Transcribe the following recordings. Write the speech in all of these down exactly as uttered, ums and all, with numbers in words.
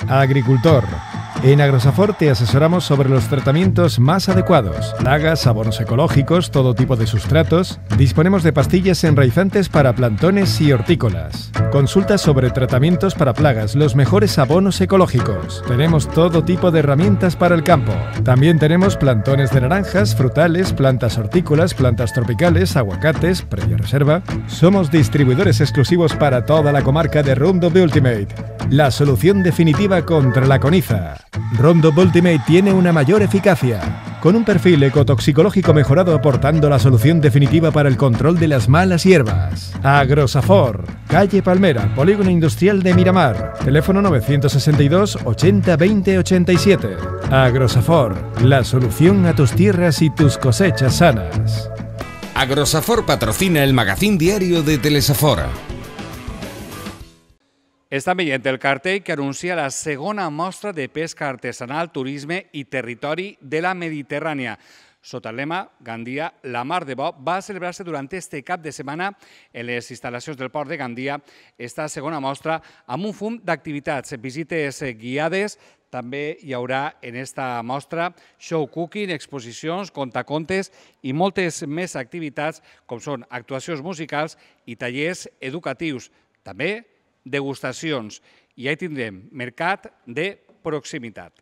Agricultor. En Agrosafor te asesoramos sobre los tratamientos más adecuados, plagas, abonos ecológicos, todo tipo de sustratos. Disponemos de pastillas enraizantes para plantones y hortícolas. Consulta sobre tratamientos para plagas, los mejores abonos ecológicos. Tenemos todo tipo de herramientas para el campo. También tenemos plantones de naranjas, frutales, plantas hortícolas, plantas tropicales, aguacates, previa reserva. Somos distribuidores exclusivos para toda la comarca de Roundup Ultimate, la solución definitiva contra la coniza. Roundup Ultimate tiene una mayor eficacia, con un perfil ecotoxicológico mejorado aportando la solución definitiva para el control de las malas hierbas. Agrosafor, calle Palmera, Polígono Industrial de Miramar, teléfono novecientos sesenta y dos ochenta veinte ochenta y siete. Agrosafor, la solución a tus tierras y tus cosechas sanas. Agrosafor patrocina el magazín diario de Telesafor. Estan veient el cartell que anuncia la segona mostra de pesca artesanal, turisme i territori de la Mediterrània. Sota el lema Gandia, la mar de bo, va celebrar-se durant este cap de setmana en les instal·lacions del port de Gandia esta segona mostra amb un fum d'activitats, visites guiades. També hi haurà en esta mostra show cooking, exposicions, contacontes i moltes més activitats com són actuacions musicals i tallers educatius. També degustacions. I ja hi tindrem mercat de proximitat.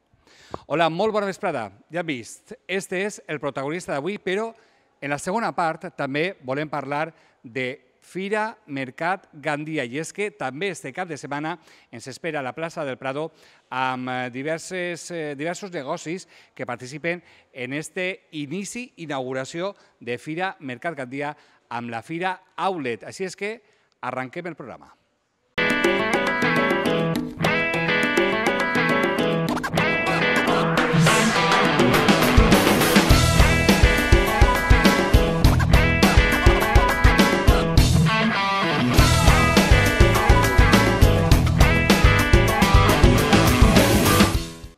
Hola, molt bona vesprada. Ja hem vist, este és el protagonista d'avui, però en la segona part també volem parlar de Fira Mercat Gandia. I és que també este cap de setmana ens espera a la plaça del Prado amb diversos, diversos negocis que participen en este inici, inauguració de Fira Mercat Gandia amb la Fira Outlet. Així és que arranquem el programa.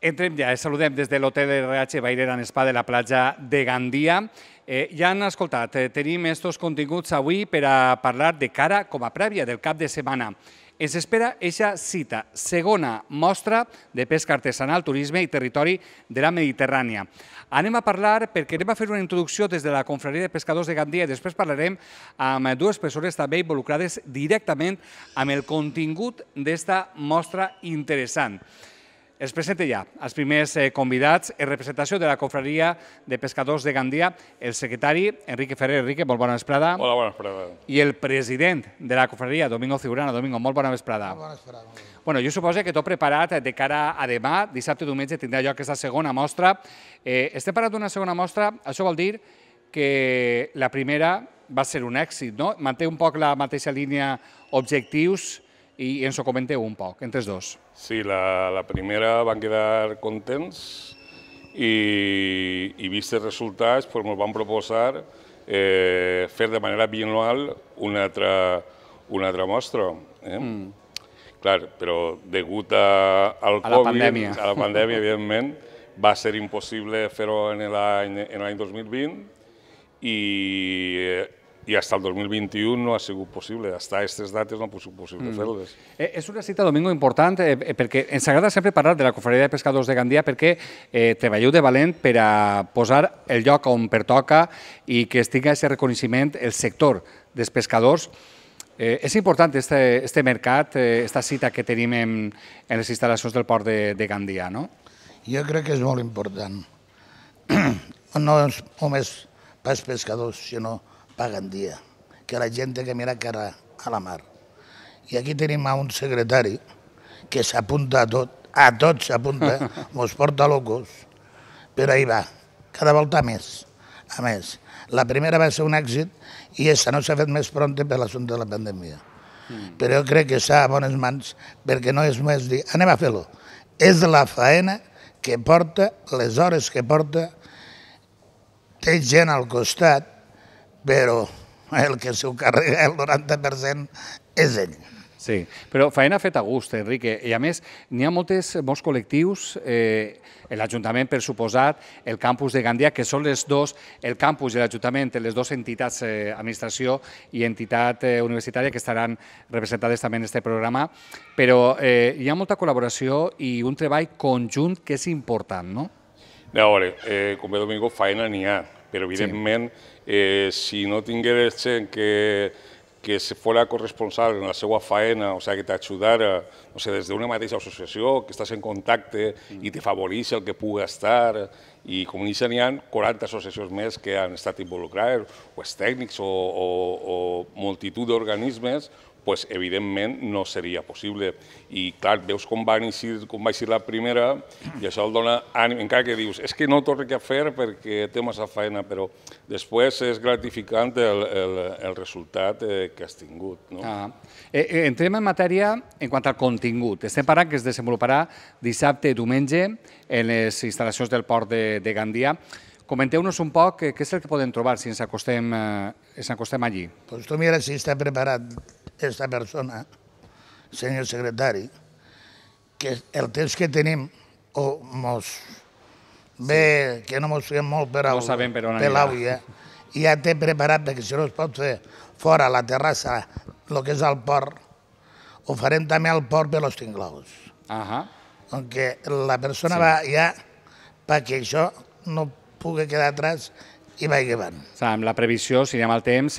Entrem ja, saludem des de l'Hotel R H Bairera en Spa de la platja de Gandia. Ja han escoltat, tenim estos continguts avui per a parlar de cara com a prèvia del cap de setmana. Ens espera eixa cita, segona mostra de pesca artesanal, turisme i territori de la Mediterrània. Anem a parlar perquè anem a fer una introducció des de la Confraria de Pescadors de Gandia i després parlarem amb dues persones també involucrades directament amb el contingut d'esta mostra interessant. Es presenta ja els primers convidats en representació de la Confraria de Pescadors de Gandia, el secretari Enrique Ferrer. Enrique, molt bona vesprada. Hola, bona vesprada. I el president de la Confraria, Domingo Ciurana. Domingo, molt bona vesprada. Molt bona vesprada. Bueno, jo suposo que tot preparat de cara a demà, dissabte i diumenge tindrà lloc aquesta segona mostra. Estem parlant d'una segona mostra, això vol dir que la primera va ser un èxit, no? Manté un poc la mateixa línia objectius i ens ho comenteu un poc, entre els dos. Sí, la primera van quedar contents i vist els resultats ens van proposar fer de manera bianual una altra mostra. Clar, però degut al Covid, a la pandèmia, evidentment, va ser impossible fer-ho en l'any dos mil vint i i fins al dos mil vint-i-u no ha sigut possible. Fins a aquestes dates no ha sigut possible fer-les. És una cita, Domingo, important perquè ens agrada sempre parlar de la Confraria de Pescadors de Gandia perquè treballeu de valent per a posar el lloc on pertoca i que es tingui aquest reconeixement el sector dels pescadors. És important aquest mercat, aquesta cita que tenim en les instal·lacions del port de Gandia, no? Jo crec que és molt important. No és només pels pescadors, sinó per Gandia, que la gent té que mirar cara a la mar. I aquí tenim un secretari que s'apunta a tot, a tot s'apunta, mos porta locos, però ahí va, cada volta més, a més. La primera va ser un èxit i aquesta no s'ha fet més pronta per l'assumpte de la pandèmia. Però jo crec que està a bones mans perquè no és només dir, anem a fer-lo. És la faena que porta, les hores que porta, té gent al costat, però el que s'ho carrega el noranta per cent és ell. Sí, però feina feta a gust, Enrique, i a més n'hi ha moltes, molts col·lectius, eh, l'Ajuntament, per suposat, el campus de Gandia, que són les dos, el campus i l'Ajuntament, les dues entitats, eh, administració i entitat eh, universitària, que estaran representades també en aquest programa, però eh, hi ha molta col·laboració i un treball conjunt que és important, no? A veure, eh, com bé Domingo, feina n'hi ha, però evidentment, eh, si no tingués gent que que se fora corresponsable en la seva feina, o sigui, que t'ajudara, no sé, des d'una mateixa associació, que estàs en contacte i te favoreix el que pugui estar, i com n'hi ha quaranta associacions més que han estat involucrades, o els tècnics o, o, o multitud d'organismes, pues, evidentment no seria possible. I clar, veus com va eixir, com va eixir la primera i això el dona ànim, encara que dius, és que no t'ho torno a fer perquè té massa feina, però després és gratificant el, el, el resultat eh, que has tingut. No? Ah. Eh, entrem en matèria en quant al contingut. Estem parlant que es desenvoluparà dissabte i diumenge en les instal·lacions del port de, de Gandia. Comenteu-nos un poc què és el que podem trobar si ens acostem, eh, ens acostem allí. Pues tu mira si està preparat esta persona, senyor secretari, que el temps que tenim, o mos ve, que no mos fem molt per l'àvia, i ja té preparat perquè si no es pot fer fora a la terrassa, el que és el port, ho farem també al port per los tinglaus. Perquè la persona va ja perquè això no pugui quedar atrás i vagi avant. Amb la previsió, si anem al temps,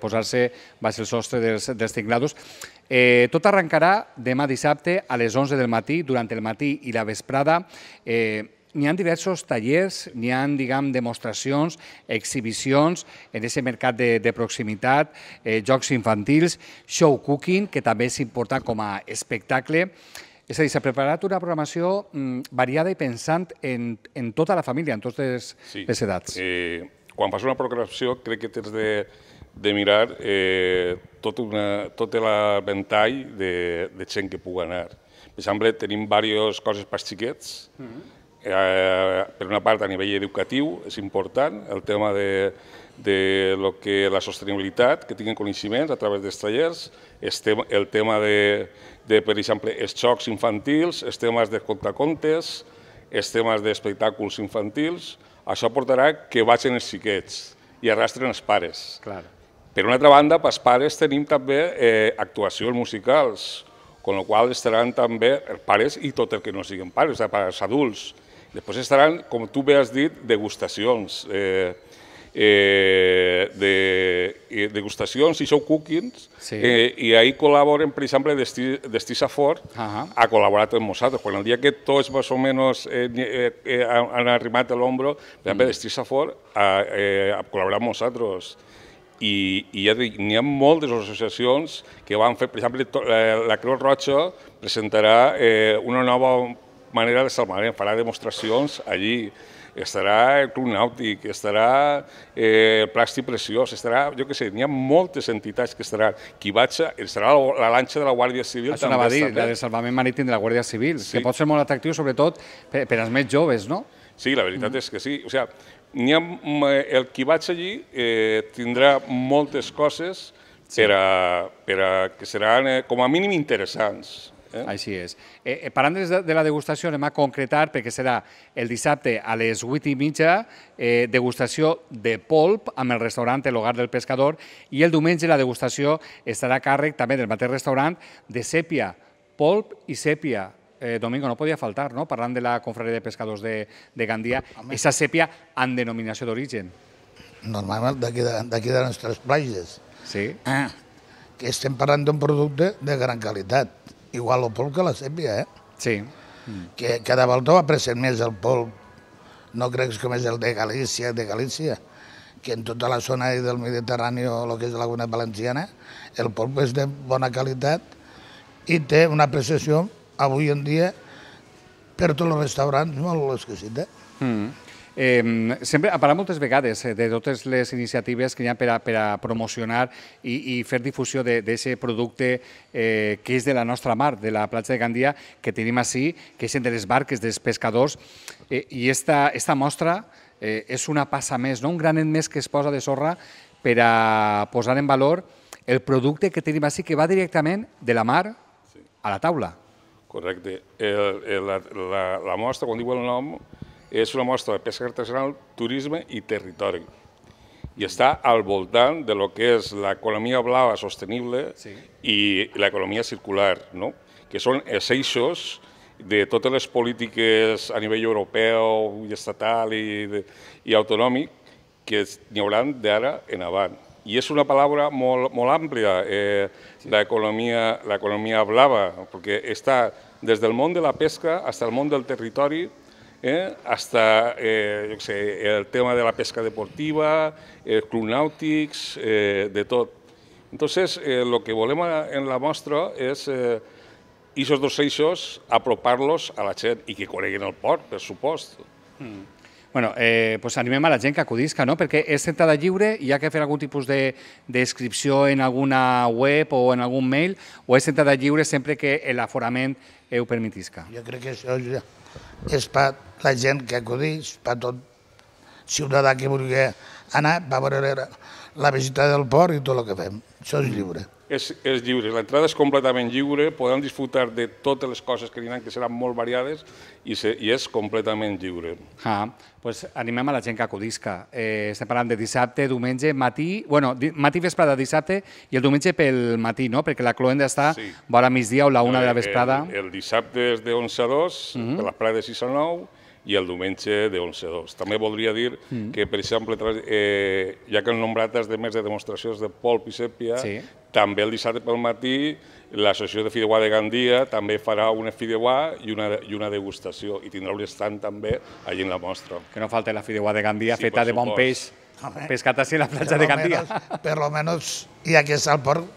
posar-se baix el sostre dels tinglados. Tot arrencarà demà dissabte a les onze del matí, durant el matí i la vesprada. N'hi ha diversos tallers, n'hi ha, diguem, demostracions, exhibicions en aquest mercat de proximitat, jocs infantils, show cooking, que també és important com a espectacle. És a dir, s'ha preparat una programació variada i pensant en tota la família, en totes les edats. Quan fas una programació crec que tens de mirar tot l'aventall de gent que pugui anar. Per exemple, tenim diverses coses per xiquets. Per una part, a nivell educatiu, és important el tema de la sostenibilitat, que tinguin coneixements a través dels tallers, el tema de, per exemple, els jocs infantils, els temes de contacontes, els temes d'espectacles infantils. Això portarà que vagin els xiquets i arrastren els pares. Per una altra banda, pels pares tenim també actuacions musicals, amb la qual cosa estaran també els pares i tot el que no siguin pares, els adults. Després estaran, com tu bé has dit, degustacions. degustacions i show cookings, i ahir col·laboren, per exemple, Destisa Fort ha col·laborat amb nosaltres. Quan el dia que tots més o menys han arrimat a l'ombro, per exemple, Destisa Fort ha col·laborat amb nosaltres. I n'hi ha moltes associacions que van fer, per exemple, la Creu Roja presentarà una nova manera de salvament, farà demostracions allí. Estarà el Club Nàutic, estarà el Plàstic Preciós, estarà, jo què sé, n'hi ha moltes entitats que estaran. Qui vaig, estarà la lanxa de la Guàrdia Civil. Això anava a dir, la de salvament marítim de la Guàrdia Civil, que pot ser molt atractiu, sobretot per als més joves, no? Sí, la veritat és que sí. O sigui, el qui vaig allí tindrà moltes coses que seran com a mínim interessants. Així és. Parlant de la degustació, anem a concretar, perquè serà el dissabte a les vuit i mitja, degustació de polp amb el restaurant El Hogar del Pescador, i el diumenge la degustació estarà a càrrec també del mateix restaurant de sèpia, polp i sèpia. Domingo, no podia faltar, no?, parlant de la confraria de pescadors de Gandia, aquesta sèpia amb denominació d'origen. Normalment d'aquí de les nostres platges. Sí. Que estem parlant d'un producte de gran qualitat. Igual el polp que la sèpia, eh? Sí. Que cada volta va apreciant més el polp, no crec com és el de Galícia, de Galícia, que en tota la zona del Mediterrani o el que és la Laguna Valenciana, el polp és de bona qualitat i té una apreciació avui en dia per tots els restaurants molt exquisita. Sempre ha parlat moltes vegades de totes les iniciatives que hi ha per a promocionar i fer difusió d'aquest producte que és de la nostra mar, de la platja de Gandia, que tenim així, que és de les barques dels pescadors, i aquesta mostra és una passa més, un granet més que es posa de sorra per a posar en valor el producte que tenim així que va directament de la mar a la taula. Correcte. El, el, la, la, la mostra, quan diu el nom, és una mostra de pesca artesanal, turisme i territori. I està al voltant de lo que és l'economia blava sostenible sí. i l'economia circular, no? Que són els eixos de totes les polítiques a nivell europeu i estatal i, de, i autonòmic que n'hi haurà d'ara en avant. I és una paraula molt, molt àmplia, eh, sí. l'economia blava, perquè està des del món de la pesca fins al món del territori, eh, hasta eh, jo sé, el tema de la pesca deportiva, els clubs nàutics, eh, de tot. Entonces, eh, lo que volem en la mostra és eh, aquests dos eixos apropar-los a la gent i que coneguin el port, per supost. Mm. Bueno, eh, pues animem a la gent que acudisca, no? Perquè és entrada lliure, hi ha que fer algun tipus d'inscripció en alguna web o en algun mail, o és entrada lliure sempre que l'aforament ho permetisca? Jo crec que això ja és per la gent que acudeix, per tot ciutadà que vulgui anar, va veure la visita del port i tot el que fem. Això és lliure. És, és lliure, l'entrada és completament lliure, podem disfrutar de totes les coses que diran que seran molt variades i, se, i és completament lliure. Ah, pues animem a la gent que acudisca. Eh, estem parlant de dissabte, diumenge, matí, bueno, di, matí vesprada dissabte i el diumenge pel matí, no? Perquè la cloenda està sí. vora migdia o la una de la vesprada. El, el dissabte és de onze a dos, uh-huh. per la playa de sis a nou, i el diumenge de onze a dos. També voldria dir mm. que, per exemple, eh, ja que han nombrat els demés de demostracions de polp i sèpia, sí. també el dissabte pel matí l'associació de Fideuà de Gandia també farà una fideuà i una, i una degustació i tindrà un estand també allà en la mostra. Que no falta la Fideuà de Gandia sí, feta de bon peix, pescat així a la platja de Gandia. Menos, per lo menos, ja que és al port,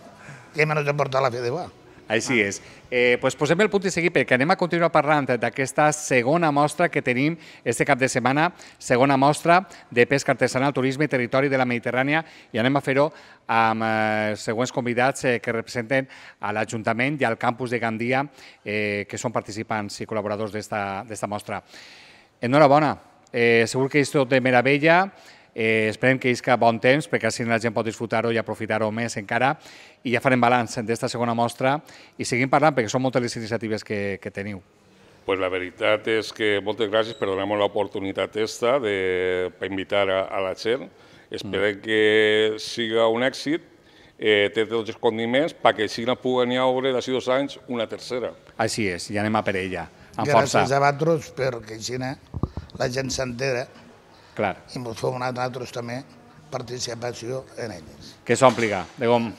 que menys de portar la Fideuà. Així és. Eh, pues posem el punt i seguir perquè anem a continuar parlant d'aquesta segona mostra que tenim este cap de setmana, segona mostra de pesca artesanal, turisme i territori de la Mediterrània i anem a fer-ho amb eh, següents convidats eh, que representen a l'Ajuntament i al campus de Gandia eh, que són participants i col·laboradors d'esta mostra. Enhorabona, eh, segur que és tot de meravella. Eh, esperem que isca bon temps, perquè així la gent pot disfrutar-ho i aprofitar-ho més encara. I ja farem balanç d'esta segona mostra i seguim parlant, perquè són moltes les iniciatives que, que teniu. Pues la veritat és que moltes gràcies per donar-nos l'oportunitat esta de, per invitar a, a la gent. Esperem mm. que siga un èxit, eh, té tots els condiments perquè així no puguen haure d'ací dos anys una tercera. Així és, i anem a per ella, amb força. Gràcies a vosaltres perquè així la gent s'entera. Clar. I ens fem nosaltres també participació en elles. Que s'ompliga, de com,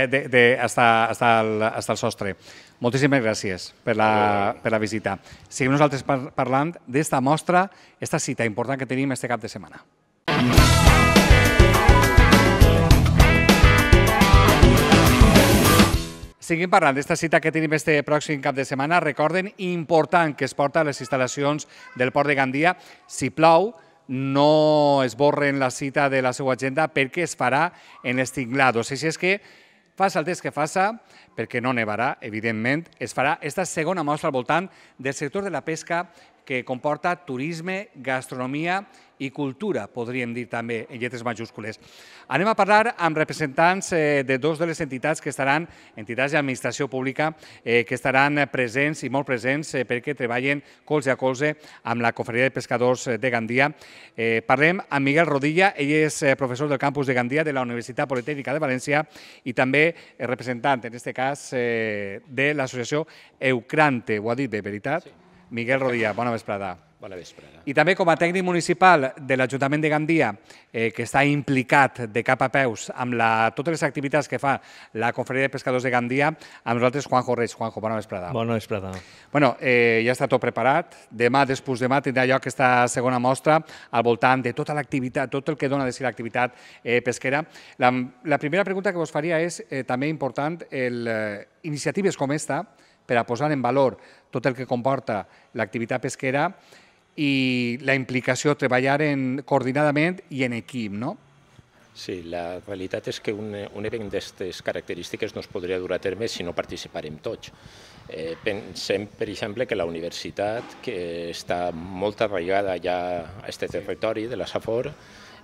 de, de, hasta, hasta, el, hasta el sostre. Moltíssimes gràcies per la, per la visita. Seguim nosaltres par, parlant d'esta mostra, esta cita important que tenim este cap de setmana. Seguim parlant d'esta cita que tenim este pròxim cap de setmana. Recorden, important que es porta a les instal·lacions del Port de Gandia. Si plou, no esborren la cita de la seva agenda perquè es farà en els tinglados. Així és que, faça el temps que faça, perquè no nevarà, evidentment, es farà esta segona mostra al voltant del sector de la pesca que comporta turisme, gastronomia i cultura, podríem dir també, en lletres majúscules. Anem a parlar amb representants eh, de dos de les entitats que estaran, entitats d'administració pública, eh, que estaran presents i molt presents eh, perquè treballen colze a colze amb la Confraria de Pescadors de Gandia. Eh, parlem amb Miguel Rodilla, ell és eh, professor del campus de Gandia de la Universitat Politècnica de València i també eh, representant, en aquest cas, eh, de l'associació Eucrante. Ho ha dit bé, veritat? Sí. Miguel Rodilla, bona vesprada. Bona vesprada. I també com a tècnic municipal de l'Ajuntament de Gandia, eh, que està implicat de cap a peus amb la, totes les activitats que fa la Confraria de Pescadors de Gandia, amb nosaltres Juanjo Reig. Juanjo, bona vesprada. Bona vesprada. Bueno, eh, ja està tot preparat. Demà, després demà, tindrà lloc aquesta segona mostra al voltant de tota l'activitat, tot el que dona de si l'activitat eh, pesquera. La, la primera pregunta que vos faria és eh, també important el, eh, iniciatives com esta per a posar en valor tot el que comporta l'activitat pesquera i la implicació, treballar en, coordinadament i en equip, no? Sí, la realitat és que un, un event d'aquestes característiques no es podria dur a terme si no participarem tots. Eh, pensem, per exemple, que la universitat, que està molt arraigada ja a aquest territori de la Safor,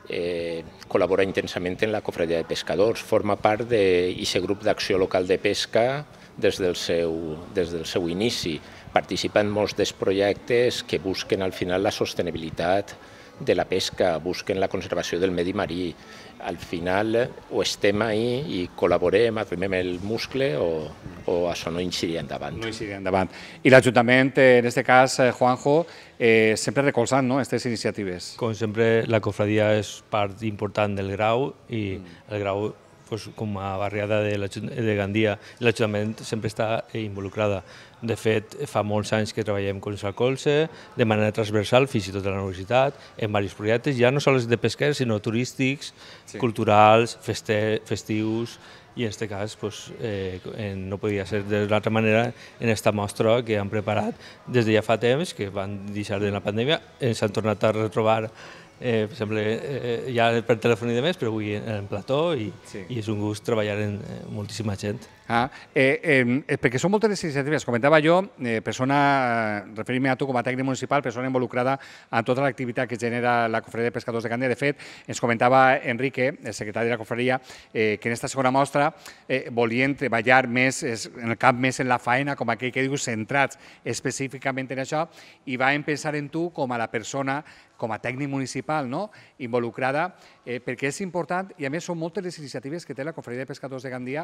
eh, col·labora intensament en la cofradia de pescadors, forma part d'aquest grup d'acció local de pesca des del seu, des del seu inici. Participa en molts dels projectes que busquen al final la sostenibilitat de la pesca, busquen la conservació del medi marí. Al final o estem ahí i col·laborem, arrimem el muscle o, o això no incidirà endavant. No incidirà endavant. I l'Ajuntament, en aquest cas, Juanjo, eh, sempre recolzant no, aquestes iniciatives. Com sempre, la cofradia és part important del Grau i el Grau, pues, com a barriada de, de Gandia, l'Ajuntament sempre està involucrada. De fet, fa molts anys que treballem colze a colze, de manera transversal, fins i tot a la universitat, en diversos projectes, ja no sols de pesquers, sinó turístics, sí. culturals, feste, festius, i en aquest cas pues, eh, no podia ser d'una altra manera en aquesta mostra que han preparat des de ja fa temps, que van deixar de la pandèmia, ens han tornat a retrobar Eh, per exemple, eh, ja per telèfon i demés, però avui en plató i, sí. i és un gust treballar amb eh, moltíssima gent. Ah, eh, eh, perquè són moltes les iniciatives. Comentava jo, eh, persona, referint-me a tu com a tècnic municipal, persona involucrada en tota l'activitat que genera la Cofradia de Pescadors de Gandia. De fet, ens comentava Enrique, el secretari de la Cofradia, eh, que en aquesta segona mostra eh, volien treballar més en el camp, més en la faena, com aquell que dius, centrats específicament en això, i vam pensar en tu com a la persona com a tècnic municipal, no? involucrada, eh, perquè és important, i a més són moltes les iniciatives que té la Cofradia de Pescadors de Gandia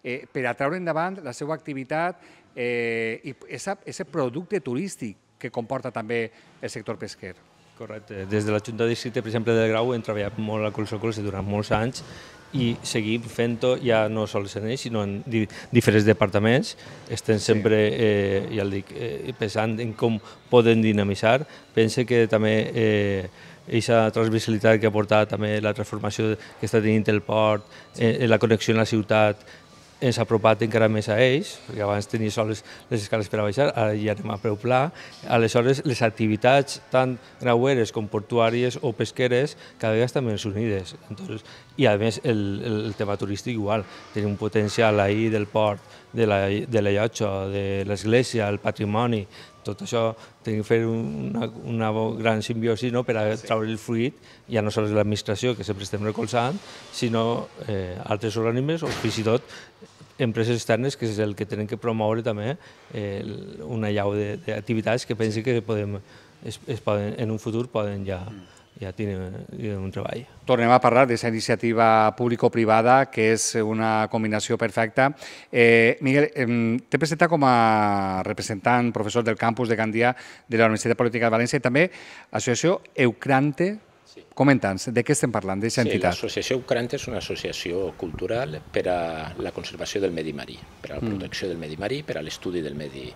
eh, per a treure endavant la seva activitat eh, i aquest producte turístic que comporta també el sector pesquer. Correcte. Des de la Junta de Districte, per exemple, del Grau, hem treballat molt a colze a colze durant molts anys i seguim fent-ho ja no sols en ells, sinó en di diferents departaments. Estem sempre, eh, ja el dic, eh, pensant en com poden dinamitzar. Pense que també eh, aquesta transversalitat que ha portat també la transformació que està tenint el port, eh, la connexió amb la ciutat, ens ha apropat encara més a ells, perquè abans tenia sols les escales per a baixar, ara ja anem a preu pla. Aleshores, les activitats tant graueres com portuàries o pesqueres cada vegada estan més unides. Entonces, i a més, el, el tema turístic igual. Tenim un potencial ahir del port, de la, de la llotja, de l'església, el patrimoni, tot això tenim que fer una, una gran simbiosi no? per a treure el fruit, ja no sols l'administració, que sempre estem recolzant, sinó eh, altres organismes o fins i tot empreses externes, que és el que tenen que promoure també eh, una llau d'activitats que pensi que podem, es, es poden, en un futur poden ja, ja tenir un treball. Tornem a parlar d'aquesta iniciativa público-privada, que és una combinació perfecta. Eh, Miguel, eh, t'he presentat com a representant, professor del campus de Gandia de la Universitat Política de València i també l'associació Eucrante. Comenta'ns, de què estem parlant, d'aquesta entitat? Sí, l'associació Eucrante és una associació cultural per a la conservació del medi marí, per a la protecció del medi marí, per a l'estudi del medi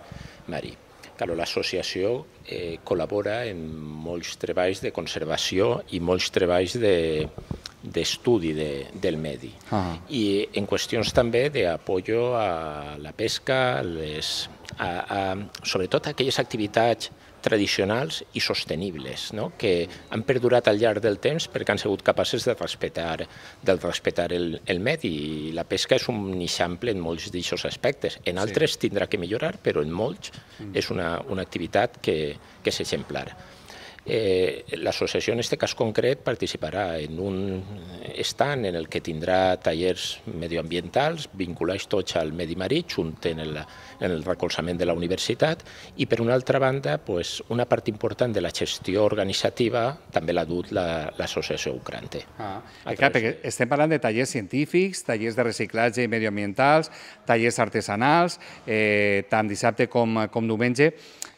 marí. L'associació eh, col·labora en molts treballs de conservació i molts treballs d'estudi de, de, del medi. Ah. I en qüestions també d'apoyo a la pesca, les, a, a, sobretot a aquelles activitats tradicionals i sostenibles, no? que han perdurat al llarg del temps perquè han sigut capaces de respectar, de respectar el, el medi. I la pesca és un eixample en molts d'aquests aspectes. En altres sí. tindrà que millorar, però en molts mm. és una, una activitat que, que és exemplar. Eh, L'associació, en aquest cas concret, participarà en un stand en el que tindrà tallers medioambientals vinculats tots al medi marí, junt en el, en el recolzament de la universitat, i per una altra banda, pues, una part important de la gestió organitzativa també l'ha dut l'associació Eucrante. Ah, clar, perquè estem parlant de tallers científics, tallers de reciclatge medioambientals, tallers artesanals, eh, tant dissabte com, com diumenge.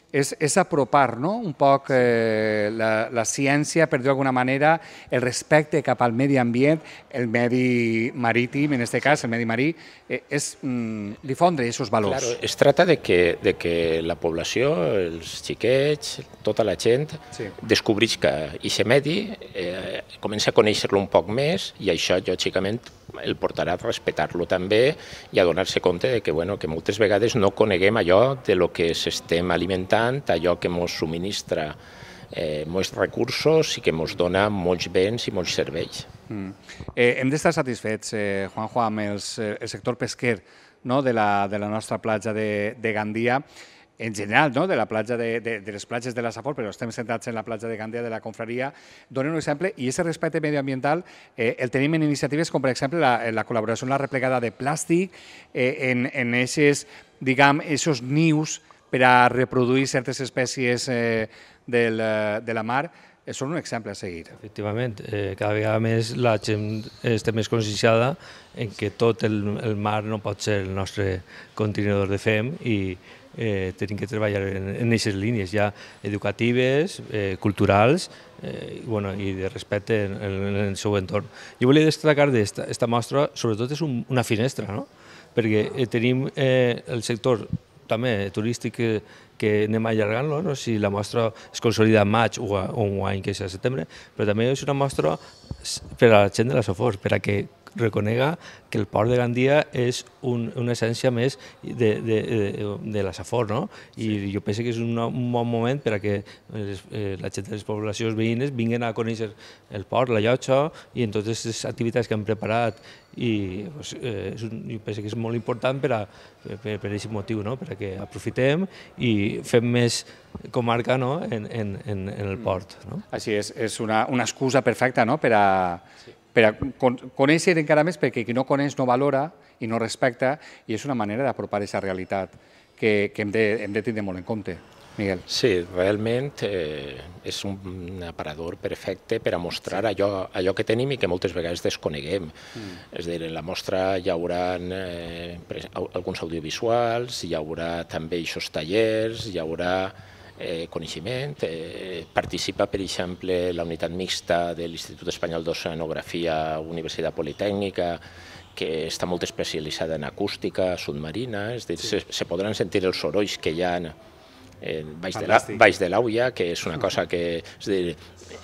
És, és apropar no? un poc eh, la, la ciència, per dir d'alguna manera, el respecte cap al medi ambient, el medi marítim, en aquest cas, el medi marí, eh, és mm, difondre aquests valors. Claro, es tracta de que, de que la població, els xiquets, tota la gent, sí. descobreix que aquest medi eh, comença a conèixer-lo un poc més i això, lògicament, el portarà a respectar-lo també i a donar-se compte de que, bueno, que moltes vegades no coneguem allò de lo que s'estem alimentant, allò que ens subministra eh, molts recursos i que ens dona molts béns i molts serveis. Mm. Eh, hem d'estar satisfets, eh, Juanjo, amb els, eh, el sector pesquer no? de, la, de la nostra platja de, de Gandia. en general, no? de, la platja de, de, de les platges de la Safor, però estem centrats en la platja de Gandia de la Confraria, donen un exemple, i aquest respecte medioambiental eh, el tenim en iniciatives com, per exemple, la, la col·laboració en la replegada de plàstic, eh, en, en aquests, diguem, aquests nius per a reproduir certes espècies eh, del, de la mar, són un exemple a seguir. Efectivament, eh, cada vegada més la gent està més conscienciada en que tot el, el mar no pot ser el nostre contenidor de fem i eh, tenim que treballar en aquestes línies ja educatives, eh, culturals eh, i, bueno, i de respecte en, en el seu entorn. Jo volia destacar d'aquesta mostra, sobretot és un, una finestra, no? Perquè eh, tenim eh, el sector també turístic que, que anem allargant-lo, no? Si la mostra es consolida en maig o un any que és a setembre, però també és una mostra per a la gent de la Safor, per a que reconega que el port de Gandia és un, una essència més de, de, de, de la Safor, no? I sí. Jo penso que és un, un bon moment per a que les, eh, la gent de les poblacions veïnes vinguin a conèixer el port, la llotja i en totes les activitats que han preparat i pues, eh, és un, jo penso que és molt important per a per, per aquest motiu, no? Per a que aprofitem i fem més comarca, no? en, en, en, en el port. No? Així és, és una, una excusa perfecta, no? per a, sí. per a conèixer encara més, perquè qui no coneix no valora i no respecta, i és una manera d'apropar aquesta realitat que, que hem, de, hem de tindre molt en compte. Miguel. Sí, realment eh, és un aparador perfecte per a mostrar sí. allò, allò que tenim i que moltes vegades desconeguem. Mm. És a dir, en la mostra hi haurà eh, alguns audiovisuals, hi haurà també aquests tallers, hi haurà eh, coneixement. Eh, participa, per exemple, la unitat mixta de l'Institut Espanyol d'Oceanografia, Universitat Politècnica, que està molt especialitzada en acústica submarina, és a dir, sí. se, se podran sentir els sorolls que hi ha Eh, baix de l'auia, que és una cosa que és dir,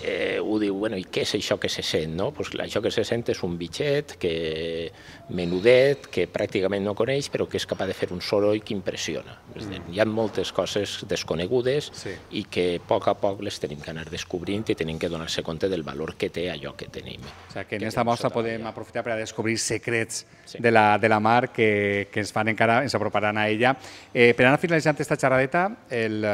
eh, ho diu, bueno, i què és això que se sent? No? Pues això que se sent és un bitxet que, menudet, que pràcticament no coneix, però que és capaç de fer un soroll que impressiona. És dir, hi ha moltes coses desconegudes sí. i que a poc a poc les tenim que anar descobrint i tenim que donar-se compte del valor que té allò que tenim. O sigui, que en aquesta mostra podem aprofitar per a descobrir secrets sí. de, la, de la mar que, que ens fan encara, ens aproparan a ella. Eh, per anar finalitzant aquesta xerradeta, el,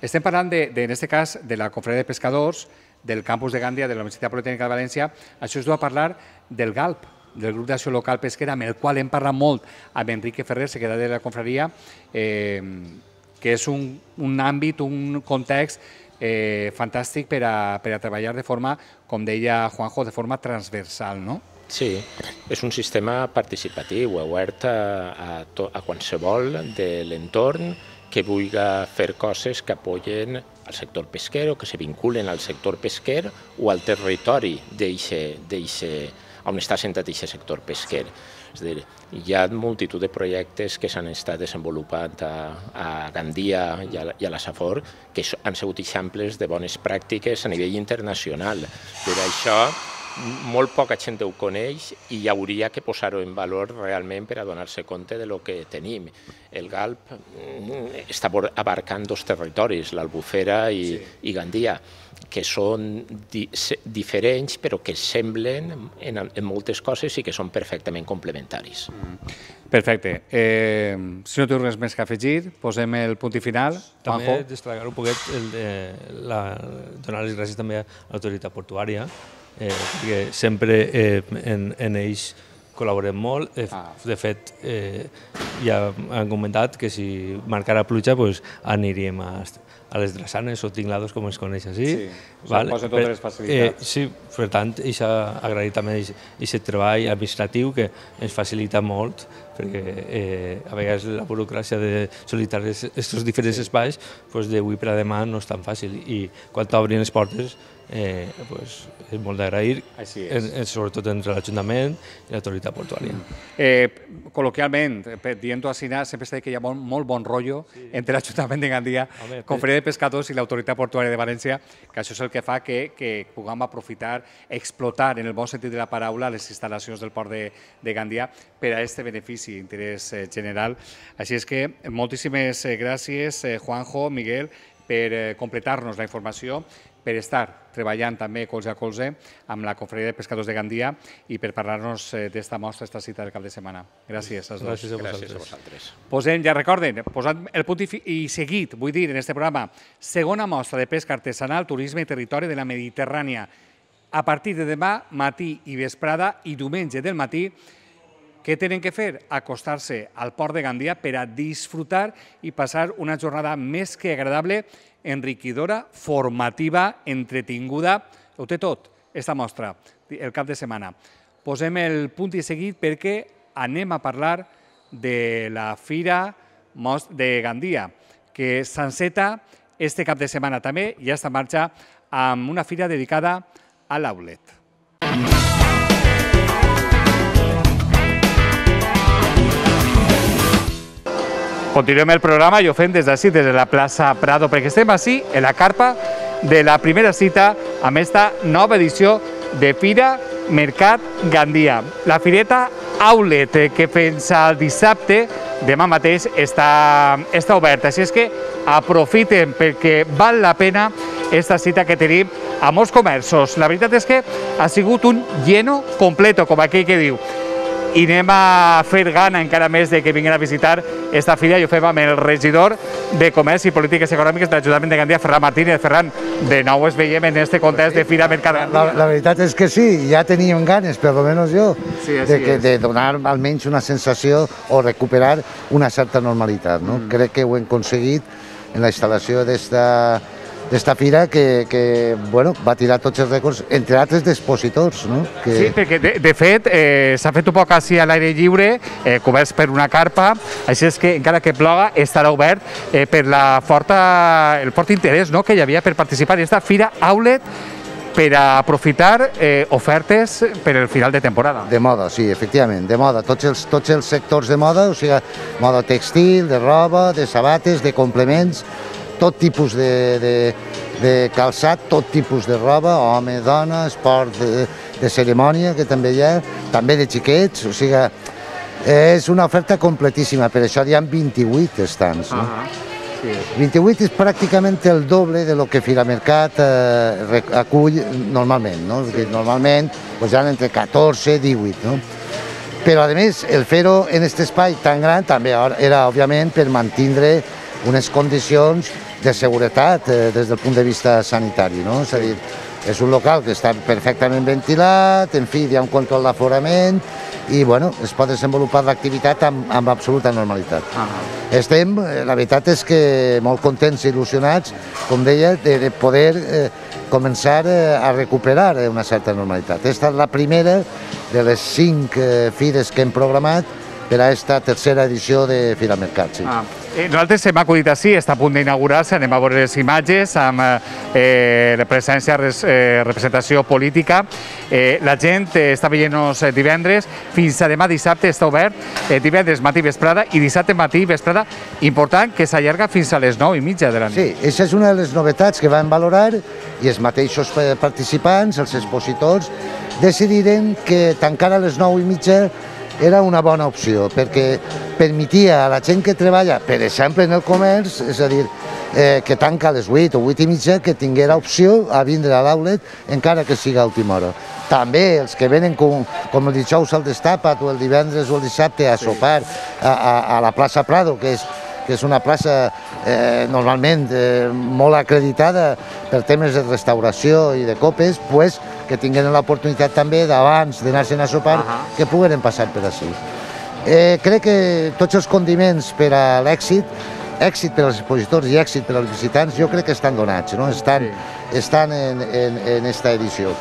estem parlant, de, de, en aquest cas, de la Confraria de Pescadors, del campus de Gandia, de la Universitat Politècnica de València. Això es du a parlar del GALP, del grup d'acció local pesquera, amb el qual hem parlat molt amb Enrique Ferrer, secretari de la Confraria, eh, que és un, un àmbit, un context eh, fantàstic per a, per a treballar de forma, com deia Juanjo, de forma transversal, no? Sí, és un sistema participatiu, obert a, a, to, a qualsevol de l'entorn que vulgui fer coses que apoyen al sector pesquer o que se vinculen al sector pesquer o al territori on està assentat aquest sector pesquer. És a dir, hi ha multitud de projectes que s'han estat desenvolupant a, a Gandia i a, i a la Safor que han sigut exemples de bones pràctiques a nivell internacional. Per això, molt poca gent ho coneix i hi hauria que posar-ho en valor realment per a donar-se compte de lo que tenim. El GALP està abarcant dos territoris, l'Albufera i, sí. i Gandia, que són di diferents però que semblen en, en moltes coses i que són perfectament complementaris. Mm. Perfecte. Eh, si no té res més que afegir, posem el punt i final. També destacar un poquet, el de la, donar les gràcies també a l'autoritat portuària, eh, perquè sempre eh, en, en ells col·laborem molt. De, ah. de fet, eh, ja han comentat que si marcara pluja pues, aniríem a, a les drassanes o tinglados, com es coneix així. Sí, vale? Posen totes les facilitats. Eh, sí, per tant, això agrair també aquest treball administratiu que ens facilita molt, perquè eh, a vegades la burocràcia de sol·licitar aquests diferents espais pues, d'avui per a demà no és tan fàcil i quan t'obrin les portes eh, pues, és molt d'agrair, sobretot entre l'Ajuntament i l'autoritat portuària. Eh, col·loquialment, dient-ho així, sempre s'ha dit que hi ha molt, molt bon rotllo sí. entre l'Ajuntament de Gandia, Home, Confraria de Pescadors i l'autoritat portuària de València, que això és el que fa que, que puguem aprofitar, explotar, en el bon sentit de la paraula, les instal·lacions del port de, de Gandia per a aquest benefici interès general. Així és que moltíssimes gràcies, Juanjo, Miguel, per completar-nos la informació, per estar treballant també colze a colze amb la Confraria de Pescadors de Gandia i per parlar-nos d'esta mostra, d'esta cita del cap de setmana. Gràcies als dos. Gràcies a vosaltres. Gràcies a vosaltres. Posem, ja recorden, posant el punt i seguit, vull dir, en este programa, segona mostra de pesca artesanal, turisme i territori de la Mediterrània. A partir de demà, matí i vesprada i diumenge del matí, què tenen que fer? Acostar-se al port de Gandia per a disfrutar i passar una jornada més que agradable, enriquidora, formativa, entretinguda. Ho té tot, esta mostra, el cap de setmana. Posem el punt i seguit perquè anem a parlar de la Fira de Gandia, que s'enceta este cap de setmana també, ja està en marxa, amb una fira dedicada a l'outlet. Continuem el programa i ho fem des d'ací, des de la plaça Prado, perquè estem així, en la carpa de la primera cita amb esta nova edició de Fira Mercat Gandia. La fireta Outlet, que fins al dissabte, demà mateix, està, està oberta. Així és que aprofiten perquè val la pena esta cita que tenim a molts comerços. La veritat és que ha sigut un lleno completo, com aquell que diu. I anem a fer gana encara més de que vinguin a visitar esta fira i ho fem amb el regidor de Comerç i Polítiques Econòmiques de l'Ajuntament de Gandia, Ferran Martínez. Ferran, de nou es veiem en este context de Fira Mercat Gandia. La, la veritat és que sí, ja teníem ganes, per almenys jo, sí, de, que, de donar almenys una sensació o recuperar una certa normalitat. No? Mm. Crec que ho hem aconseguit en la instal·lació d'esta d'esta fira que, que bueno, va tirar tots els rècords, entre altres d'expositors. No? Que... Sí, perquè de, de fet eh, s'ha fet un poc així a l'aire lliure, eh, coberts per una carpa, així és que encara que ploga estarà obert eh, per la forta, el fort interès, no?, que hi havia per participar en esta Fira Outlet per a aprofitar eh, ofertes per al final de temporada. De moda, sí, efectivament, de moda. Tots els, tots els sectors de moda, o sigui, moda textil, de roba, de sabates, de complements, tot tipus de, de, de calçat, tot tipus de roba, home, dona, esport de, de cerimònia, que també hi ha, també de xiquets, o sigui, és una oferta completíssima, per això hi ha vint-i-vuit estants. No? Uh -huh. Sí. vint-i-vuit és pràcticament el doble de lo que Fira Mercat eh, acull normalment, no? Sí. Normalment pues, hi ha entre catorze i divuit, no? Però a més el fer-ho en aquest espai tan gran també era òbviament per mantindre unes condicions de seguretat eh, des del punt de vista sanitari, no? És a dir, és un local que està perfectament ventilat, en fi, hi ha un control d'aforament i, bueno, es pot desenvolupar l'activitat amb, amb absoluta normalitat. Uh-huh. Estem, la veritat és que molt contents i il·lusionats, com deia, de, de poder eh, començar eh, a recuperar una certa normalitat. Esta és la primera de les cinc eh, fires que hem programat per a aquesta tercera edició de Fira Mercat. Sí. Ah. Eh, nosaltres hem acudit així, està a punt d'inaugurar-se, anem a veure les imatges amb eh, presència, res, eh, representació política. Eh, la gent eh, està veient-nos divendres, fins a demà dissabte està obert, eh, divendres matí i vesprada, i dissabte matí i vesprada, important, que s'allarga fins a les nou i mitja de la nit. Sí, aquesta és una de les novetats que vam valorar i els mateixos participants, els expositors, decidiren que tancar a les nou i mitja era una bona opció, perquè permetia a la gent que treballa, per exemple, en el comerç, és a dir, eh, que tanca a les vuit o vuit i mitja, que tinguera opció a vindre a l'outlet, encara que siga a última hora. També els que venen com, com el dijous al Destapat o el divendres o el dissabte a sopar a, a, a la plaça Prado, que és, que és una plaça eh, normalment eh, molt acreditada per temes de restauració i de copes, pues, que tinguin l'oportunitat també d'abans d'anar-se'n a sopar, uh-huh. que pogueren passar per així. Eh, crec que tots els condiments per a l'èxit, èxit per als expositors i èxit per als visitants, jo crec que estan donats, no? estan, sí. estan en, en, en esta edició.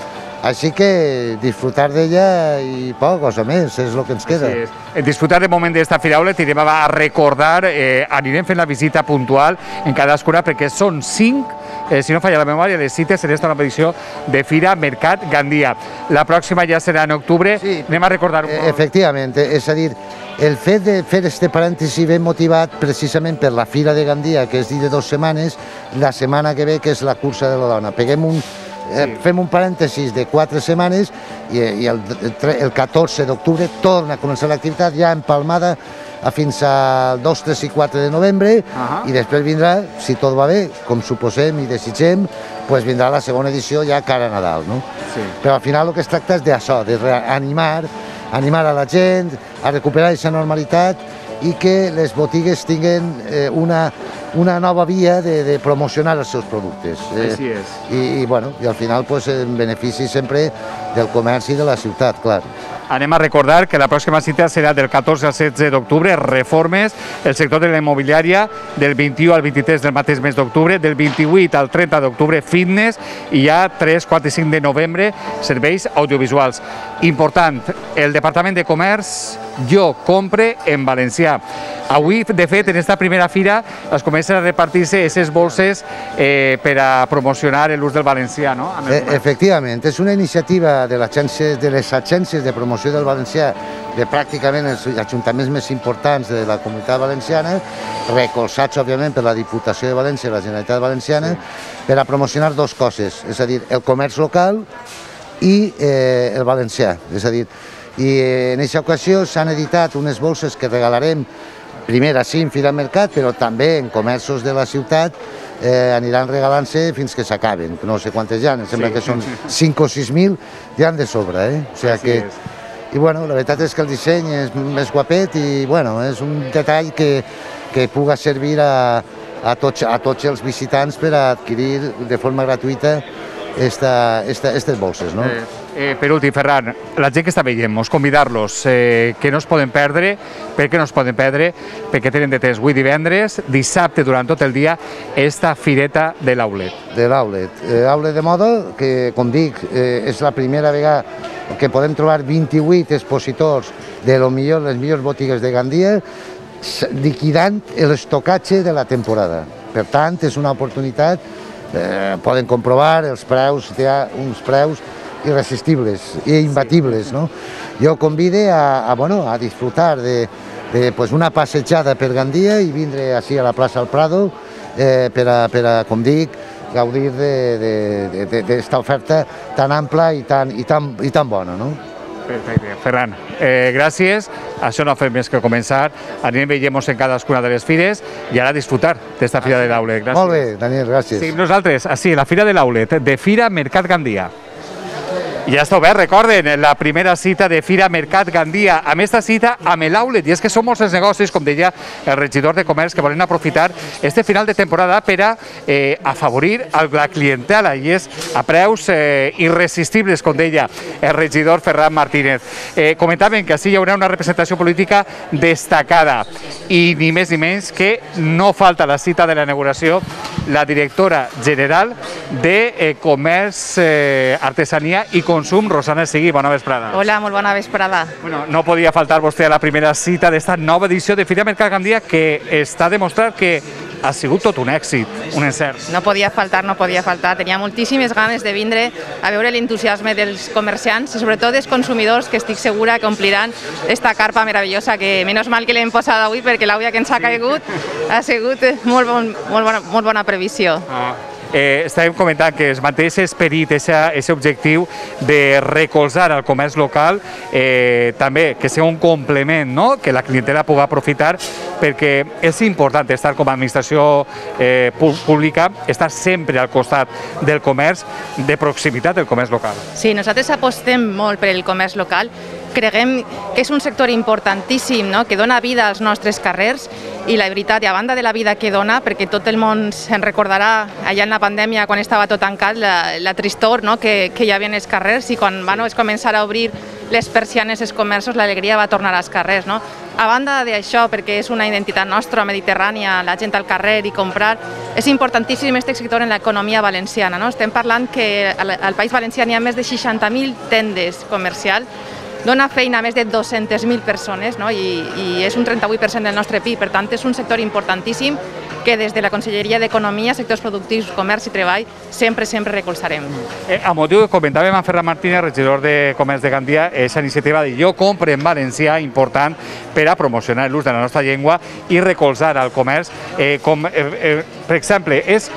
Així que disfrutar d'ella i poca cosa més, és el que ens queda. Sí, és. Disfrutar de moment d'esta Fira Outlet, anirem a recordar, eh, anirem fent la visita puntual en cadascuna, perquè són cinc, eh, si no falla la memòria, les cites en esta nova edició de Fira Mercat Gandia. La pròxima ja serà en octubre, sí, anem a recordar un poc. Efectivament, és a dir, el fet de fer este parèntesi ben motivat precisament per la Fira de Gandia, que és dir de dues setmanes, la setmana que ve, que és la cursa de la dona. Peguem un Eh, fem un parèntesis de quatre setmanes i, i el, el catorze d'octubre torna a començar l'activitat ja empalmada a fins al dos, tres i quatre de novembre, Ahà. i després vindrà, si tot va bé, com suposem i desitgem, pues vindrà la segona edició ja cara a Nadal, no? Sí. Però al final el que es tracta és d'això, de reanimar, animar a la gent, a recuperar aquesta normalitat i que les botigues tinguin eh, una, una nova via de, de promocionar els seus productes. Eh, Així és. I, i, bueno, i al final pues, en benefici sempre del comerç i de la ciutat, clar. Anem a recordar que la pròxima cita serà del catorze al setze d'octubre, reformes, el sector de la immobiliària, del vint-i-u al vint-i-tres del mateix mes d'octubre, del vint-i-vuit al trenta d'octubre, fitness, i ja tres, quatre i cinc de novembre, serveis audiovisuals. Important, el Departament de Comerç, jo compre en valencià. Avui, de fet, en esta primera fira es comencen a repartir-se aquestes bolses eh, per a promocionar l'ús del valencià, no? E efectivament, és una iniciativa de, de les agències de promoció del valencià de pràcticament els ajuntaments més importants de la comunitat valenciana, recolzats, òbviament, per la Diputació de València i la Generalitat Valenciana, per a promocionar dues coses, és a dir, el comerç local i eh, el valencià. És a dir, i en aquesta ocasió s'han editat unes bolses que regalarem primer així en Fira Mercat, però també en comerços de la ciutat eh, aniran regalant-se fins que s'acaben, no sé quantes hi ha, em sembla sí. que són cinc o sis mil, ja han de sobre, eh? O sigui que... I bueno, la veritat és que el disseny és més guapet i bueno, és un detall que, que puga servir a, a, tots, a tots els visitants per a adquirir de forma gratuïta esta, esta, estas bolses, no? Eh, eh, per últim, Ferran, la gent que està veient, mos convidar-los eh, que no es poden perdre. Per què no es poden perdre? Perquè tenen de temps avui divendres, dissabte durant tot el dia, esta fireta de l'Outlet. De l'Outlet. Eh, Outlet de moda, que com dic, eh, és la primera vegada que podem trobar vint-i-vuit expositors de lo millor, les millors botigues de Gandia, liquidant l'estocatge de la temporada. Per tant, és una oportunitat, eh, poden comprovar els preus, hi ha uns preus irresistibles i imbatibles, no? Jo convide a, a, bueno, a disfrutar de, de pues, una passejada per Gandia i vindre així a la plaça del Prado eh, per, a, per a, com dic, gaudir d'esta oferta tan ampla i tan, i tan, i tan bona, no? Perfecte. Ferran, eh, gràcies. Això no ha fet més que començar. Anem veient-nos en cadascuna de les fires i ara disfrutar d'esta Fira de l'Outlet. Gràcies. Molt bé, Daniel, gràcies. Seguim nosaltres, així, la Fira de l'Outlet, de Fira Mercat Gandia. Ja està obert, recorden, la primera cita de Fira Mercat Gandia, amb esta cita amb l'Outlet, i és que són molts els negocis, com deia el regidor de Comerç, que volen aprofitar este final de temporada per a eh, afavorir la clientela, i és a preus eh, irresistibles, com deia el regidor Ferran Martínez. Eh, comentaven que així hi haurà una representació política destacada, i ni més ni menys que no falta la cita de la inauguració la directora general de eh, Comerç, eh, Artesania i Consum, Rosana Sigui. Bona vesprada. Hola, molt bona vesprada. Bueno, no podia faltar vostè a la primera cita d'esta nova edició de Fira Mercat Gandia, que està demostrat que ha sigut tot un èxit, un encert. No podia faltar, no podia faltar. Tenia moltíssimes ganes de vindre a veure l'entusiasme dels comerciants i sobretot dels consumidors, que estic segura que ompliran esta carpa meravellosa, que menys mal que l'hem posat avui, perquè l'àvia que ens ha caigut ha sigut molt, bon, molt, bona, molt bona previsió. Ah. Eh, estàvem comentant que es manté aquest esperit, aquest objectiu de recolzar el comerç local, eh, també que sigui un complement, no? Que la clientela pugui aprofitar, perquè és important estar com a administració eh, pública, estar sempre al costat del comerç, de proximitat del comerç local. Sí, nosaltres apostem molt per el comerç local. Creguem que és un sector importantíssim, no? Que dona vida als nostres carrers, i la veritat, i a banda de la vida que dona, perquè tot el món se'n recordarà allà en la pandèmia, quan estava tot tancat, la, la tristor, no? que, que hi havia als carrers, i quan van es començar a obrir les persianes als comerços, l'alegria va tornar als carrers. No? A banda d'això, perquè és una identitat nostra, mediterrània, la gent al carrer i comprar, és importantíssim aquest sector en l'economia valenciana. No? Estem parlant que al, al País Valencià hi ha més de seixanta mil tendes comercials, dona feina a més de dues-centes mil persones, no? I, i és un trenta-vuit per cent del nostre P I B. Per tant, és un sector importantíssim que des de la Conselleria d'Economia, Sectors Productius, Comerç i Treball sempre, sempre recolzarem. Eh, a motiu que comentàvem amb Ferran Martínez, regidor de Comerç de Gandia, aquesta iniciativa de Jo compre en valencià, important per a promocionar l'ús de la nostra llengua i recolzar el comerç. Eh, com, eh, eh, per exemple, és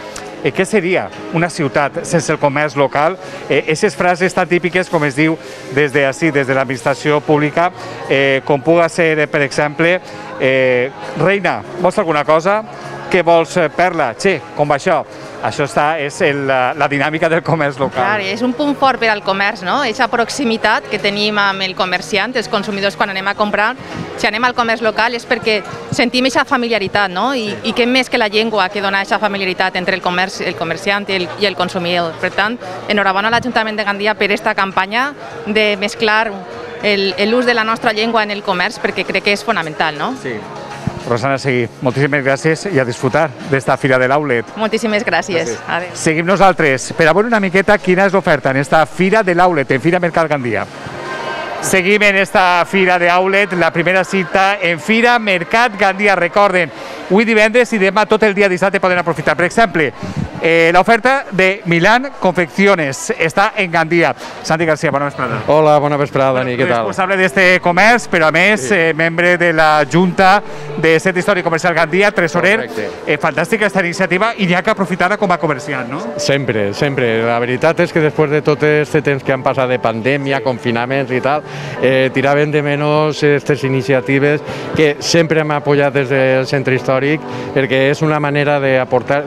eh, què seria una ciutat sense el comerç local? Aquestes eh, frases tan típiques, com es diu des de ací, des de l'administració pública, eh, com puga ser, per exemple, eh, Reina, vols alguna cosa? Què vols, Perla? Che, com va això? Això està, és el, la, la dinàmica del comerç local. Clar, és un punt fort per al comerç, no? Aquesta proximitat que tenim amb el comerciant, els consumidors quan anem a comprar. Si anem al comerç local és perquè sentim aquesta familiaritat, no? I, i què més que la llengua que dona aquesta familiaritat entre el, comerç, el comerciant i el, i el consumidor. Per tant, enhorabona a l'Ajuntament de Gandia per aquesta campanya de mesclar l'ús de la nostra llengua en el comerç, perquè crec que és fonamental, no? Sí. Rosana Seguí, moltíssimes gràcies i a disfrutar d'esta Fira de l'Outlet. Moltíssimes gràcies. gràcies. Seguim nosaltres per a veure una miqueta quina és l'oferta en esta Fira de l'Outlet, en Fira Mercat Gandia. Seguim en esta Fira de Outlet, la primera cita en Fira Mercat Gandia. Recorden, avui divendres i demà tot el dia dissabte poden aprofitar. Per exemple, eh, l'oferta de Milán Confecciones està en Gandia. Santi García, bona vesprada. Hola, bona vesprada, Dani, què tal? Responsable d'este comerç, però a més sí. eh, membre de la Junta de Centre Històric Comercial Gandia, tresorer. Eh, fantàstica aquesta iniciativa i n'hi ha que aprofitar-la com a comerciant, no? Sempre, sempre. La veritat és que després de tot este temps que han passat de pandèmia, confinaments i tal, eh, tiraven de menys aquestes iniciatives que sempre hem apoyat des del centre històric perquè és una manera d'aportar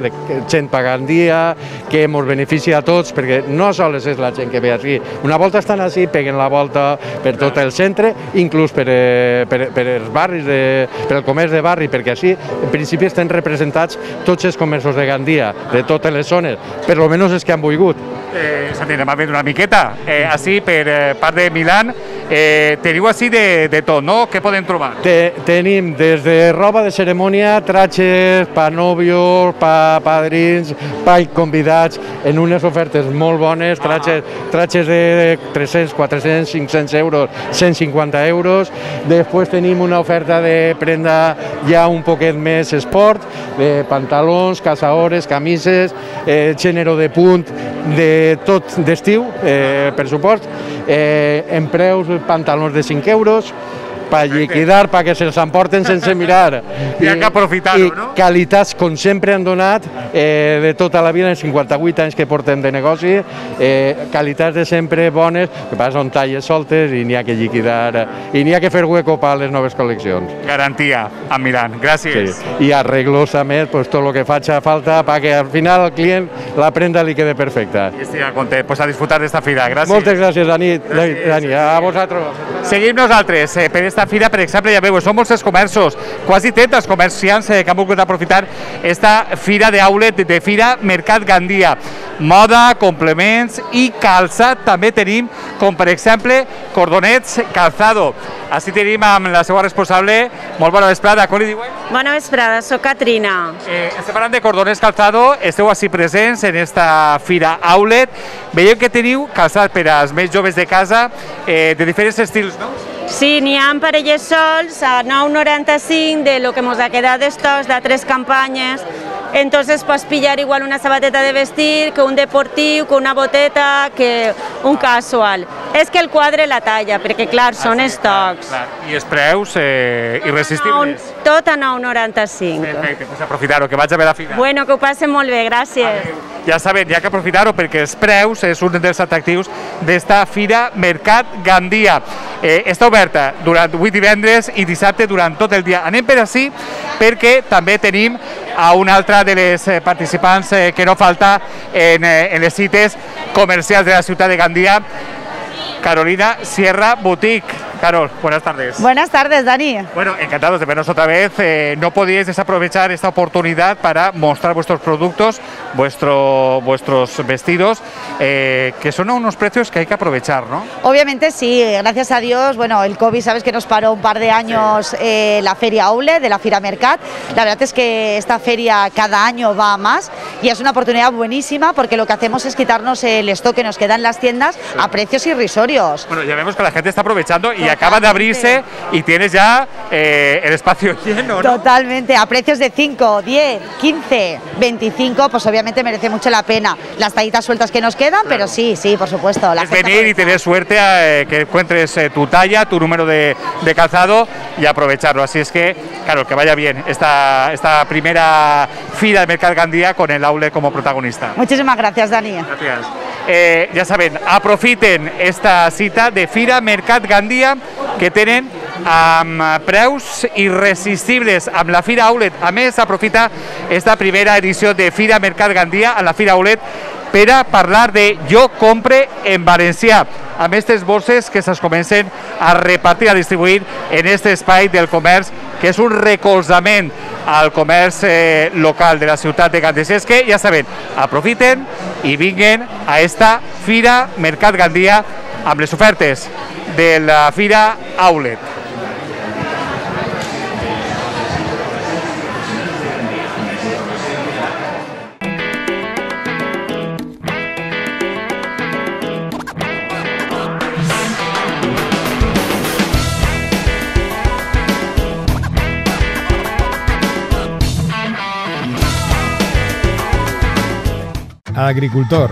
gent per Gandia, que ens beneficia a tots, perquè no sols és la gent que ve així. Una volta estan així, peguen la volta per tot el centre, inclús per, eh, per, per els barris, de, per el comerç de barri, perquè així, en principi, estan representats tots els comerços de Gandia, de totes les zones, per almenys els que han volgut. Eh, Santi, anem a veure una miqueta. Eh, així, per eh, part de Milán, eh, teniu així de, de tot, no? Què podem trobar? Te, tenim des de roba de cerimònia, tratges, pa nòvios, pa padrins, pa convidats, en unes ofertes molt bones, tratges, tratges de tres-cents, quatre-cents, cinc-cents euros, cent cinquanta euros. Després tenim una oferta de prenda ja un poquet més esport, de pantalons, casaores, camises, eh, gènere de punt, de tot d'estiu, eh, per supost, eh, en preus pantalons de cinc euros, per liquidar, perquè se'ls emporten sense mirar. I ha que aprofitar-ho, no? I qualitats, com sempre han donat, eh, de tota la vida, en cinquanta-vuit anys que portem de negoci, eh, qualitats de sempre bones, que passa són talles soltes i n'hi ha que liquidar, i n'hi ha que fer hueco per a les noves col·leccions. Garantia, amb Milán. Gràcies. Sí. I arreglos també, pues, tot el que faci falta, perquè al final el client la prenda li quede perfecta. I estic content. Pues a disfrutar d'esta fira. Gràcies. Moltes gràcies, Dani. Gràcies. Dani, a vosaltres. Seguim nosaltres eh, per esta fira, per exemple, ja veu, són molts els comerços, quasi trenta els comerciants eh, que han volgut aprofitar esta fira d'outlet, de Fira Mercat Gandia. Moda, complements i calçat també tenim, com per exemple cordonets calzado. Així tenim amb la seva responsable. Molt bona vesprada, com li diuen? Bona vesprada, soc Catrina. Eh, estem parlant de cordonets calzado, esteu així presents en esta fira outlet. Veieu que teniu calçat per als més joves de casa, eh, de diferents estils, no? Sí, n'hi ha parelles sols a nou noranta-cinc de lo que ens ha quedat d'estocs de tres campanyes. Entonces pots pillar igual una sabateta de vestir, que un deportiu, que una boteta, que un casual. És que el quadre la talla, perquè clar, són ah, sí, estocs. Clar, clar. I els preus eh, irresistibles. Tot a nou noranta-cinc. Perfecte, pues aprofitar-ho, que vaig a veure la fira. Bueno, que ho passen molt bé, gràcies. Adeu. Ja saben, hi ha que aprofitar-ho perquè els preus és un dels atractius d'esta Fira Mercat Gandia. Eh, està oberta durant avui divendres i dissabte durant tot el dia. Anem per ací perquè també tenim a una altra de les participants eh, que no falta en, eh, en les cites comercials de la ciutat de Gandia, Carolina Sierra Boutique. Carol, buenas tardes. Buenas tardes, Dani. Bueno, encantados de vernos otra vez. Eh, no podíais desaprovechar esta oportunidad para mostrar vuestros productos, vuestro, vuestros vestidos, eh, que son a unos precios que hay que aprovechar, ¿no? Obviamente sí, gracias a Dios. Bueno, el COVID, sabes que nos paró un par de años sí. eh, la feria Outlet de la Fira Mercat. La verdad es que esta feria cada año va a más y es una oportunidad buenísima porque lo que hacemos es quitarnos el stock que nos queda en las tiendas sí. a precios irrisorios. Bueno, ya vemos que la gente está aprovechando y acaba de abrirse y tienes ya eh, el espacio lleno, ¿no? Totalmente, a precios de cinco, diez, quince, veinticinco, pues obviamente merece mucho la pena. Las tallitas sueltas que nos quedan, claro. Pero sí, sí, por supuesto. La es venir y tener suerte a eh, que encuentres eh, tu talla, tu número de, de calzado y aprovecharlo. Así es que, claro, que vaya bien esta, esta primera Fira de Mercat Gandia con el outlet como protagonista. Muchísimas gracias, Dani. Gracias. Eh, ja saben, aprofiten esta cita de Fira Mercat Gandia que tenen amb preus irresistibles amb la Fira Outlet. A més, aprofita esta primera edició de Fira Mercat Gandia a la Fira Outlet per a parlar de Jo compre en valencià, amb aquestes bosses que se'ls comencen a repartir, a distribuir en aquest espai del comerç, que és un recolzament al comerç eh, local de la ciutat de Gandés. És que, ja saben, aprofiten i vinguen a esta Fira Mercat Gandia amb les ofertes de la Fira Outlet. Agricultor.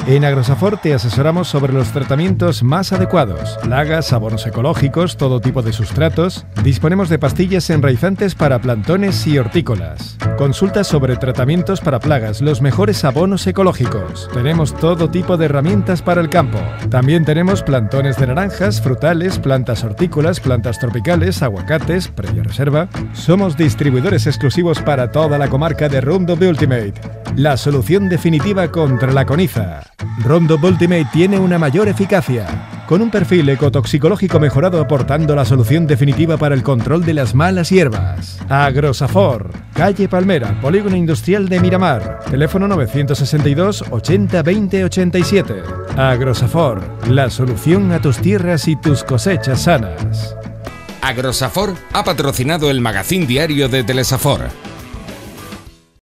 En Agrosafor te asesoramos sobre los tratamientos más adecuados, plagas, abonos ecológicos, todo tipo de sustratos. Disponemos de pastillas enraizantes para plantones y hortícolas. Consultas sobre tratamientos para plagas, los mejores abonos ecológicos. Tenemos todo tipo de herramientas para el campo. También tenemos plantones de naranjas, frutales, plantas hortícolas, plantas tropicales, aguacates, previa reserva. Somos distribuidores exclusivos para toda la comarca de Roundup Ultimate, la solución definitiva contra la coniza. Roundup Ultimate tiene una mayor eficacia, con un perfil ecotoxicológico mejorado aportando la solución definitiva para el control de las malas hierbas. Agrosafor, calle Palmera, Polígono Industrial de Miramar, teléfono novecientos sesenta y dos ochenta veinte ochenta y siete. Agrosafor, la solución a tus tierras y tus cosechas sanas. Agrosafor ha patrocinado el magazín diario de Telesafor.